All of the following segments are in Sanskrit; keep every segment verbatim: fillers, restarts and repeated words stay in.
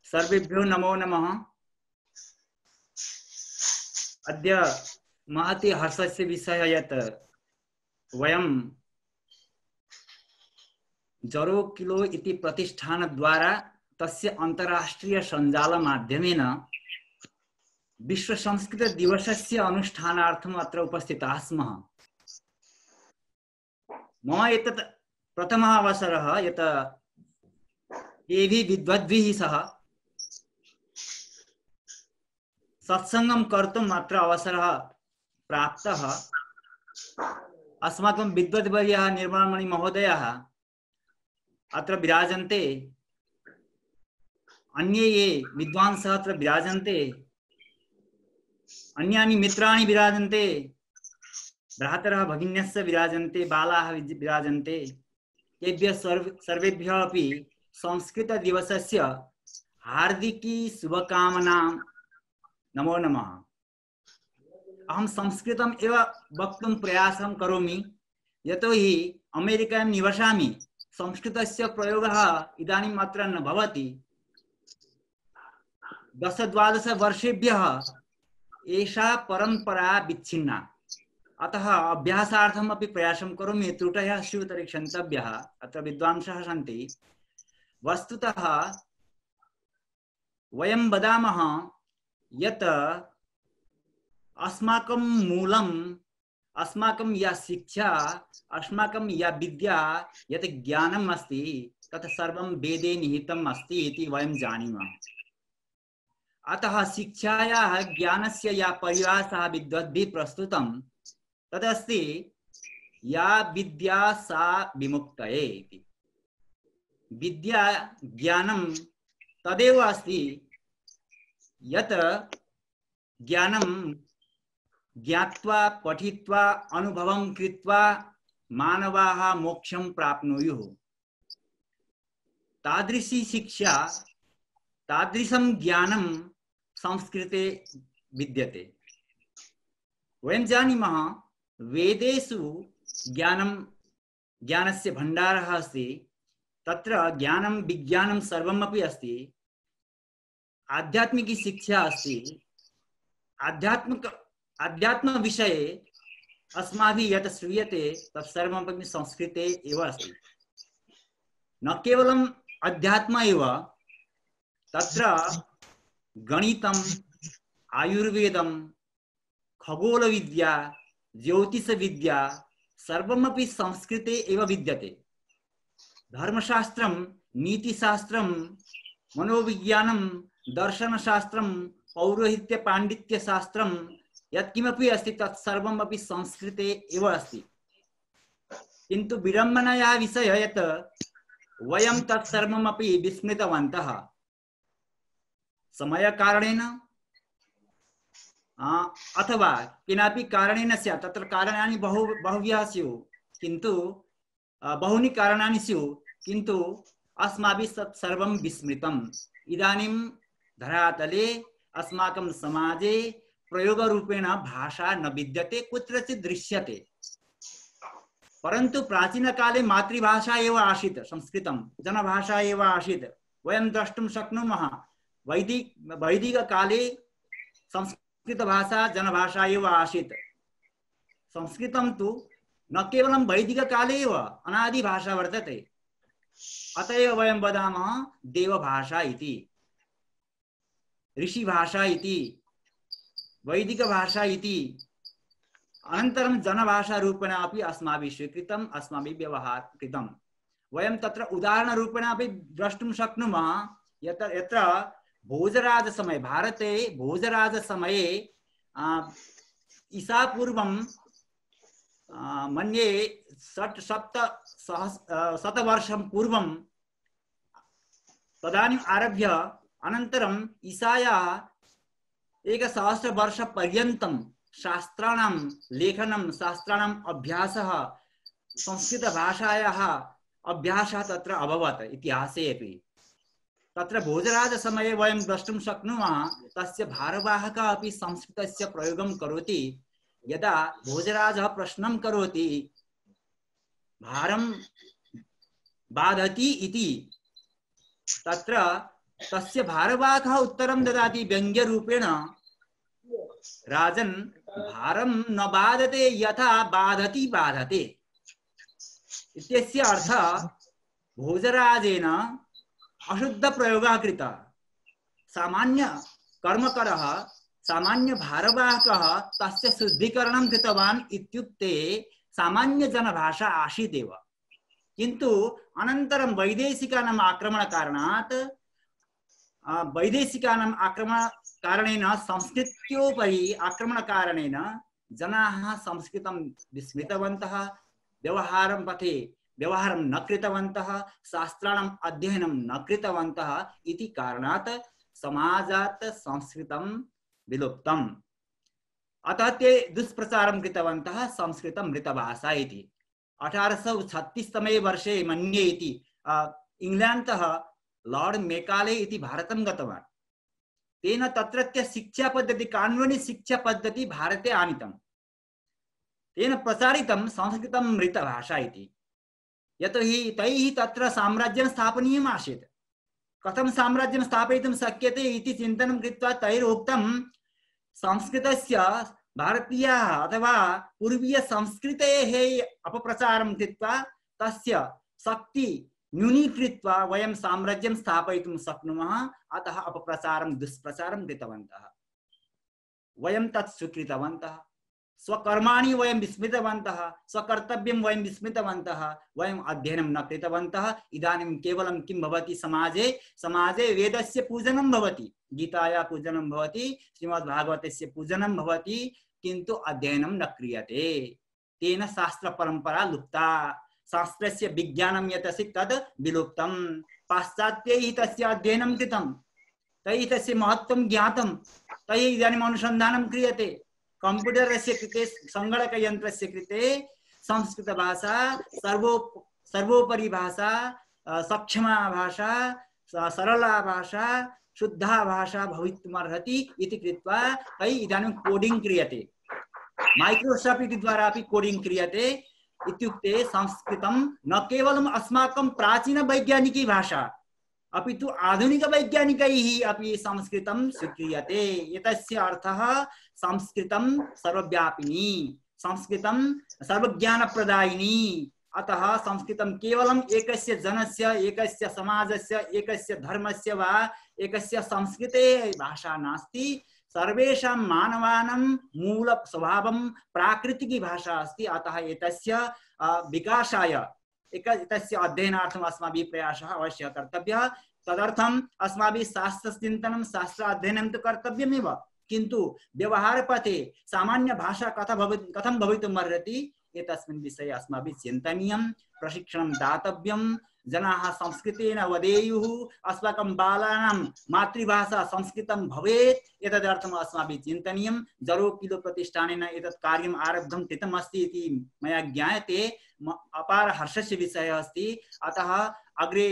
सर्वेभ्यो नमो नमः। अद्य महती हर्षस्य विषय यत् वयं जरो किलो इति प्रतिष्ठान द्वारा तस्य अंतरराष्ट्रीय संजाल माध्यमेन विश्व संस्कृत दिवसस्य अनुष्ठानार्थम् अत्र उपस्थिताः स्मः। मम एतत् प्रथमः अवसरः यत् एभिः विद्वद्भिः सह सत्संगं कर्तुम् अत्र अवसरः प्राप्तः। अस्माकं विद्वद्वर्यः निर्मलमणि महोदयः अत्र विराजन्ते, अन्ये ये विद्वांसः अत्र विराजन्ते, अन्यानि मित्राणि विराजन्ते, भ्रातरः भगिन्यश्च विराजन्ते, बालाः विराजन्ते। तेभ्यः सर्व सर्वेभ्यः अपि संस्कृत दिवसस्य हार्दिकी शुभकामनां। नमो नमः। अहं संस्कृतम् एव वक्तुं प्रयासं करोमि, यतोहि अमेरिकायां निवसामि। संस्कृतस्य प्रयोगः इदानीम् अत्र न भवति। दश द्वादश वर्षेभ्यः एषा परम्परा विच्छिन्ना, अतः अभ्यासार्थम् अपि प्रयासं करोमि। त्रुटयः स्युः तर्हि क्षन्तव्यः। अत्र विद्वांसः सन्ति। वस्तुतः वयं वदामः यत् अस्माकं मूलम्, अस्माकं या शिक्षा, अस्माकं या विद्या, यत् ज्ञानम् अस्ति तत् सर्वं वेदे निहितम् अस्ति इति वयं जानीमः। अतः शिक्षायाः ज्ञानस्य या परिभाषा विद्वद्भिः प्रस्तुतं तदस्ति या विद्या सा विमुक्तये इति। विद्या ज्ञानं तदेव अस्ति यत् ज्ञानं ज्ञात्वा पठित्वा अनुभवं कृत्वा मानवाः मोक्षं प्राप्नुयुः। तादृशी शिक्षा, तादृशं ज्ञानं संस्कृते विद्यते। वयं जानीमः वेदेषु ज्ञानं ज्ञानस्य भण्डारः अस्ति। तत्र ज्ञानं विज्ञानं सर्वमपि अस्ति। आध्यात्मिकी शिक्षा अस्ति। आध्यात्मिक अध्यात्म विषये अस्माभिः यत् श्रूयते तत् सर्वमपि संस्कृते एव अस्ति। न केवलम् अध्यात्म एव, तत्र गणितम्, आयुर्वेदं, खगोलविद्या, ज्योतिषविद्या सर्वमपि संस्कृते एव विद्यते। धर्मशास्त्रं, नीतिशास्त्रं, मनोविज्ञानं, दर्शनशास्त्रं, पौरोहित्य पाण्डित्यशास्त्रं यत्किमपि अस्ति तत् सर्वमपि संस्कृते एव अस्ति। किन्तु विडम्बनायाः विषयः यत् वयं तत् सर्वमपि विस्मृतवन्तः। समयकारणेन अथवा केनापि कारणेन स्यात्। तत्र कारणानि बहु बहवः स्युः, किन्तु बहूनि कारणानि स्युः, किन्तु अस्माभिः तत् सर्वं विस्मृतम्। इदानीं धरातले अस्माकं समाजे प्रयोगरूपेण भाषा न विद्यते, कुत्रचित् दृश्यते। परन्तु प्राचीनकाले मातृभाषा एव आसीत् संस्कृतं, जनभाषा एव आसीत्। वयं द्रष्टुं शक्नुमः वैदिक वैदिककाले संस्कृतभाषा जनभाषा एव आसीत्। संस्कृतं तु न केवलं वैदिककाले एव अनादिभाषा वर्तते। अत एव वयं वदामः देवभाषा इति, ऋषिभाषा इति, वैदिकभाषा इति। अनन्तरं जनभाषा रूपेण अपि अस्माभिः स्वीकृतम्, अस्माभिः व्यवहार कृतम्। वयं तत्र उदाहरणरूपेण अपि द्रष्टुं शक्नुमः यत् यत्र भोजराजसमये, भारते भोजराजसमये ईसापूर्वं मन्ये षट् सप्त सहस् शतवर्षं पूर्वं तदानीम् आरभ्य अनन्तरम् ईसायाः एकसहस्रवर्षपर्यन्तं शास्त्राणां लेखनं, शास्त्राणाम् अभ्यासः, संस्कृतभाषायाः अभ्यासः तत्र अभवत् इतिहासे अपि। तत्र भोजराजसमये वयं द्रष्टुं शक्नुमः तस्य भारवाहकः अपि संस्कृतस्य प्रयोगं करोति। यदा भोजराजः प्रश्नं करोति भारं बाधति इति, तत्र तस्य भारवाहः उत्तरं ददाति व्यङ्ग्यरूपेण, राजन् भारं न बाधते यथा बाधति बाधते इत्यस्य अर्थः भोजराजेन अशुद्ध प्रयोगः कृतः। सामान्य कर्मकरः सामान्य भारवाहकः तस्य शुद्धीकरणं कृतवान् इत्युक्ते सामान्य जनभाषा आसीदेव, किन्तु अनन्तरं वैदेशिकानाम् आक्रमणकारणात् वैदेशिकानाम् आक्रमणकारणेन संस्कृत्योपरि आक्रमणकारणेन जनाः संस्कृतं विस्मृतवन्तः, व्यवहारं पथे व्यवहारं न कृतवन्तः, शास्त्राणाम् अध्ययनं न कृतवन्तः इति कारणात् समाजात् संस्कृतं विलुप्तम्। अतः ते दुष्प्रचारं कृतवन्तः संस्कृतं मृतभाषा इति। अठारह सौ छत्तीस तमे वर्षे मन्ये इति इंग्लैंडतः लॉर्ड मेकाले इति भारतं गतवान्। तेन तत्रत्य शिक्षा पद्धति कानूनी शिक्षा पद्धति भारते आनीतं। तेन प्रचारितं संस्कृतं मृतभाषा इति। यतोहि तैः तत्र साम्राज्यं स्थापनीयम् आसीत्। कथं साम्राज्यं स्थापयितुं शक्यते इति चिन्तनं कृत्वा तैरुक्तं संस्कृतस्य भारतीयाः अथवा पूर्वीय संस्कृतेः अपप्रचारं कृत्वा तस्य शक्ति न्यूनीकृत्वा वयं साम्राज्यं स्थापयितुं शक्नुमः। अतः अपप्रचारं दुष्प्रचारं कृतवन्तः। वयं तत् स्वीकृतवन्तः। स्वकर्माणि वयं विस्मृतवन्तः, स्वकर्तव्यं वयं विस्मृतवन्तः, वयम् अध्ययनं न कृतवन्तः। इदानीं केवलं किं भवति समाजे समाजे वेदस्य पूजनं भवति, गीताया पूजनं भवति, श्रीमद्भागवतस्य पूजनं भवति, किन्तु अध्ययनं न क्रियते। तेन शास्त्रपरम्परा लुप्ता, शास्त्रस्य विज्ञानं यत् अस्ति तद् विलुप्तं। पाश्चात्यैः तस्य अध्ययनं कृतं, तैः तस्य महत्त्वं ज्ञातं, तैः इदानीम् अनुसन्धानं क्रियते। कंप्यूटरस्य कृते संगणकयन्त्रस्य कृते संस्कृतभाषा सर्वो सर्वोपरि भाषा, सक्षमा भाषा, सरला भाषा, शुद्धा भाषा भवितुमर्हति इति कृत्वा तैः इदानीं कोडिंग क्रियते। माइक्रोसॉफ्ट इति द्वारा अपि कोडिंग क्रियते। इत्युक्ते संस्कृतं न केवलम् अस्माकं प्राचीन वैज्ञानिकी भाषा अपि तु आधुनिक वैज्ञानिकैः अपि संस्कृतं स्वीक्रियते। एतस्य अर्थः संस्कृतं सर्वव्यापिनी, संस्कृतं सर्वज्ञानप्रदायिनी। अतः संस्कृतं केवलम् एकस्य जनस्य, एकस्य समाजस्य, एकस्य धर्मस्य वा एकस्य संस्कृतेः भाषा नास्ति। सर्वेषां मानवानां मूल स्वभावं प्राकृतिकी भाषा अस्ति। अतः एतस्य विकासाय एक तस्य अध्ययनार्थम् अस्माभिः प्रयासः अवश्यः कर्तव्यः। तदर्थम् अस्माभिः शास्त्रचिन्तनं, शास्त्र अध्ययनं तु कर्तव्यमेव, किन्तु व्यवहारपथे सामान्य भाषा कथं भवि कथं भवितुमर्हति एतस्मिन् विषये अस्माभिः चिन्तनीयं, प्रशिक्षणं दातव्यं। जनाः संस्कृतेन वदेयुः, अस्माकं बालानां मातृभाषा संस्कृतं भवेत्, एतदर्थम् अस्माभिः चिन्तनीयं। जरो किलो प्रतिष्ठानेन एतत् कार्यम् आरब्धं कृतमस्ति इति मया ज्ञायते। अपार हर्षस्य विषयः अस्ति। अतः अग्रे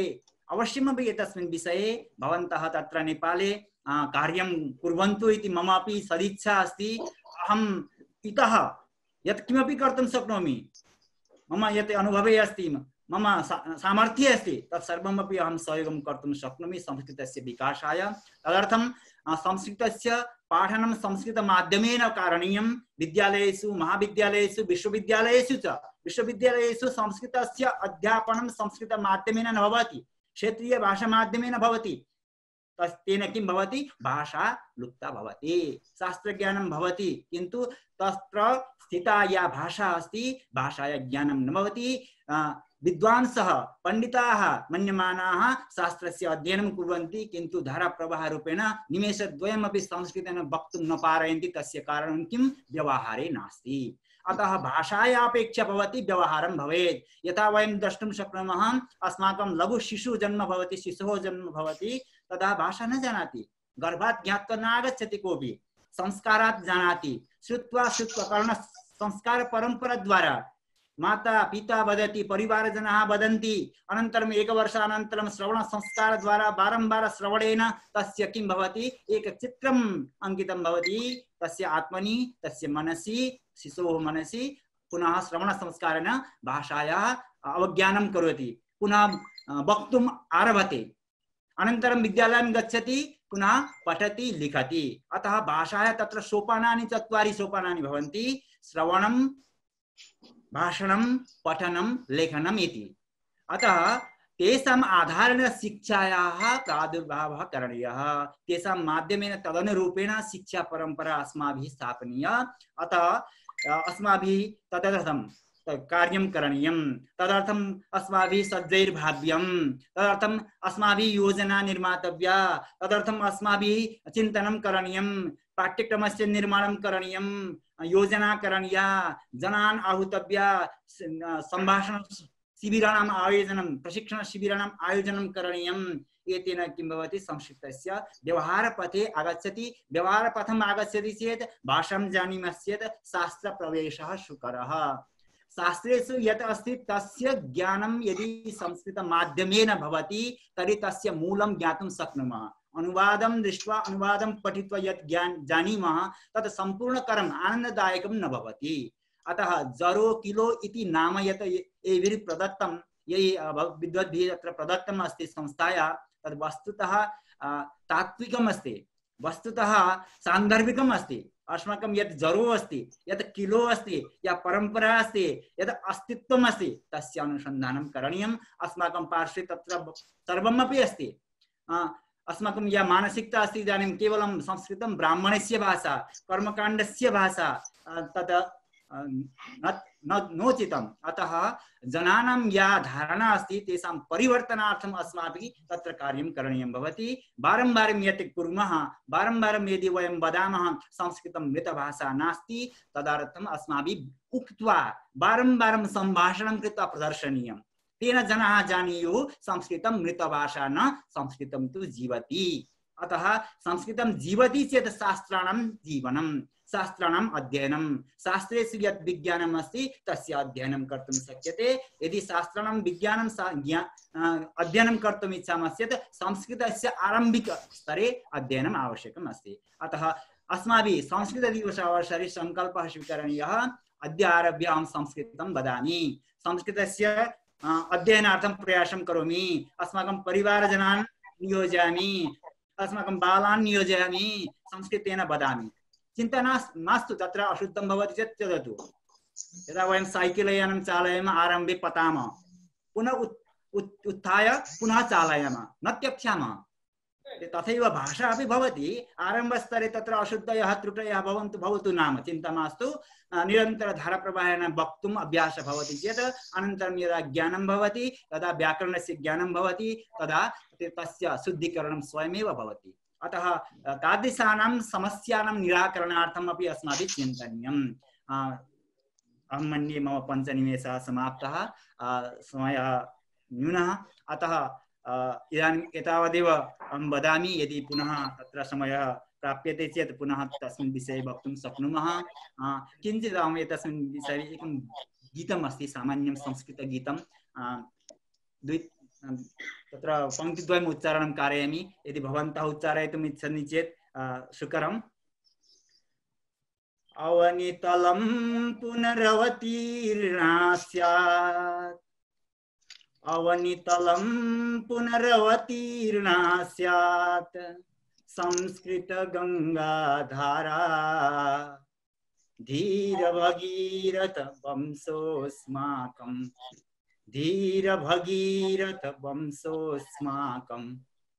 अवश्यमपि एतस्मिन् विषये भवन्तः तत्र नेपाले कार्यं कुर्वन्तु इति मम अपि सदिच्छा अस्ति। अहम् इतः यत्किमपि कर्तुं शक्नोमि, मम यत् अनुभवे अस्ति, मम सामर्थ्ये अस्ति, तत्सर्वमपि अहं सहयोगं कर्तुं शक्नोमि संस्कृतस्य विकासाय। तदर्थं संस्कृतस्य पाठनं संस्कृतमाध्यमेन कारणीयं। विद्यालयेषु, महाविद्यालयेषु, विश्वविद्यालयेषु च विश्वविद्यालयेषु संस्कृतस्य अध्यापनं संस्कृतमाध्यमेन न भवति, क्षेत्रीय भाषामाध्यमेन भवति। तेन किं भवति, भाषा लुप्ता भवति, शास्त्रज्ञानं भवति, किन्तु तत्र स्थिता या भाषा अस्ति भाषाया ज्ञानं न भवति। विद्वांसः, पंडिताः मन्यमानाः शास्त्रस्य अध्ययनं कुर्वन्ति, किन्तु धाराप्रवाहरूपेण निमेषद्वयमपि संस्कृतेन वक्तुं न पारयन्ति। तस्य कारणं किं, व्यवहारे नास्ति। अतः भाषाया अपेक्षा भवति व्यवहारं भवेत्। यथा वयं द्रष्टुं शक्नुमः, अस्माकं लघु शिशुः जन्म भवति, शिशोः जन्म भवति, तदा भाषा न जानाति, गर्भात् ज्ञात्वा न आगच्छति कोऽपि, संस्कारात् जानाति। श्रुत्वा श्रुत्वा कर्ण संस्कार परंपरा द्वारा माता पिता वदति, परिवारजनाः वदन्ति, अनन्तरम् एकवर्षानन्तरं श्रवण संस्कार द्वारा बारंबार श्रवणेन तस्य किं भवति, एक चित्रम् अंकितं भवति तस्य आत्मनि, तस्य मनसि, शिशोः मनसि। पुनः श्रवण संस्कारेण भाषायाः अवज्ञानं करोति, पुनः वक्तुम् आरभते। अनन्तरं विद्यालयं गच्छति, पुनः पठति लिखति। अतः भाषायाः तत्र सोपानानि चत्वारि सोपानानि भवन्ति, श्रवणं, भाषणं, पठनं, लेखनम् इति। अतः तेषाम् आधारेण शिक्षायाः प्रादुर्भावः करणीयः, तेषां माध्यमेन तदनुरूपेण शिक्षा परम्परा अस्माभिः स्थापनीया। अतः अस्माभिः तदर्थं कार्यं करणीयं, तदर्थम् अस्माभिः सज्जैर्भाव्यं, तदर्थम् अस्माभिः योजना निर्मातव्या, तदर्थम् अस्माभिः चिन्तनं करणीयं, पाठ्यक्रमस्य निर्माणं करणीयं, योजना करणीया, जनान् आहूतव्या, सम्भाषण शिबिराणाम् आयोजनं, प्रशिक्षण शिबिराणाम् आयोजनं करणीयम्। एतेन किं भवति, संस्कृतस्य व्यवहारपथे आगच्छति। व्यवहारपथम् आगच्छति चेत् भाषां जानीमश्चेत् शास्त्रप्रवेशः सुकरः। शास्त्रेषु यत् अस्ति तस्य ज्ञानं यदि संस्कृतमाध्यमेन भवति तर्हि तस्य मूलं ज्ञातुं शक्नुमः। अनुवादं दृष्ट्वा, अनुवादं पठित्वा यत् ज्ञान जानीमः तत् सम्पूर्णकरम् आनन्ददायकं न भवति। अतः जरो किलो इति नाम यत् एभिः प्रदत्तं, यही विद्वद्भिः अत्र प्रदत्तम् अस्ति संस्थाया, तद् वस्तुतः तात्विकम् अस्ति, वस्तुतः सान्दर्भिकम् अस्ति। अस्माकं यत् जरो अस्ति, यत् किलो अस्ति, या परंपरा अस्ति, यत् अस्तित्वम् अस्ति, तस्य अनुसन्धानं करणीयम्। अस्माकं पार्श्वे तत्र सर्वमपि अस्ति। अस्माकं या मानसिकता अस्ति, इदानीं केवलं संस्कृतं ब्राह्मणस्य भाषा, कर्मकाण्डस्य भाषा, तत् नोचितम्। अतः जनानां या धारणा अस्ति तेषां परिवर्तनार्थम् अस्माभिः तत्र कार्यं करणीयं भवति। बारम्बारं यत् कुर्मः, बारम्बारं यदि वयं वदामः संस्कृतं मृतभाषा नास्ति, तदर्थम् अस्माभिः उक्त्वा बारम्बारं सम्भाषणं कृत्वा प्रदर्शनीयं। तेन जनाः जानीयुः संस्कृतं मृतभाषा न, संस्कृतं तु जीवति। अतः संस्कृतं जीवति चेत् शास्त्राणां जीवनं, शास्त्राणाम् अध्ययनं, शास्त्रेषु यत् विज्ञानम् अस्ति तस्य अध्ययनं कर्तुं शक्यते। यदि शास्त्राणां विज्ञानं अध्ययनं कर्तुम् इच्छामश्चेत् संस्कृतस्य आरम्भिकस्तरे अध्ययनम् आवश्यकम् अस्ति। अतः अस्माभिः संस्कृतदिवस अवसरे सङ्कल्पः स्वीकरणीयः। अद्य आरभ्य अहं संस्कृतं वदामि, संस्कृतस्य अध्ययनार्थं प्रयासं करोमि, अस्माकं परिवारजनान् नियोजयामि, अस्माकं बालान् नियोजयामि, संस्कृतेन वदामि। चिन्ता मास्तु, तत्र अशुद्धं भवति चेत् त्यजतु। यदा वयं साइकेल यानं चालयामः, आरम्भे पतामः, पुनः उत्थाय पुनः चालयामः, न त्यक्ष्यामः। तथैव भाषा अपि भवति। आरम्भस्तरे तत्र अशुद्धयः त्रुटयः भवन्तु भवतु नाम चिन्ता मास्तु। निरन्तरधाराप्रवाहेण वक्तुम् अभ्यासः भवति चेत् अनन्तरं यदा ज्ञानं भवति, तदा व्याकरणस्य ज्ञानं भवति, तदा तस्य शुद्धीकरणं स्वयमेव भवति। अतः तादृशानां समस्यानां निराकरणार्थम् अपि अस्माभिः चिन्तनीयम्। अहं मन्ये मम पञ्चनिमेषः समाप्तः, समयः न्यूनः, अतः इदानीम् एतावदेव अहं वदामि। यदि पुनः तत्र समयः प्राप्यते चेत् पुनः तस्मिन् विषये वक्तुं शक्नुमः। किञ्चित् अहम् एतस्मिन् विषये एकं गीतम् अस्ति, सामान्यं संस्कृतगीतं, द्वि तत्र पङ्क्तिद्वयम् उच्चारणं कारयामि। यदि भवन्तः उच्चारयितुम् इच्छन्ति चेत् सुकरम्। अवनितलं पुनरवतीर्णा स्यात्, अवनितलं पुनरवतीर्णा स्यात्, संस्कृत गंगाधारा, धीर भगीरथ वंशोऽस्माकं, धीर भगीरथ वंशोऽस्माकं,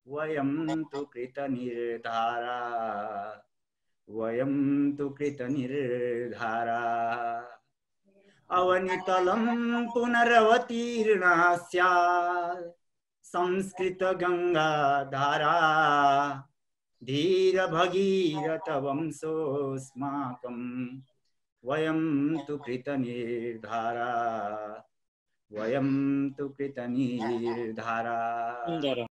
वयं तु कृतनिर्धारा, वयं तु कृतनिर्धारा। अवनितलं पुनरवतीर्णा स्यात्, संस्कृत गंगाधारा, धीर भगीरथ वंशोऽस्माकं, वयं तु कृतनिर्धारा, वयं तु कृतनिर्धारा।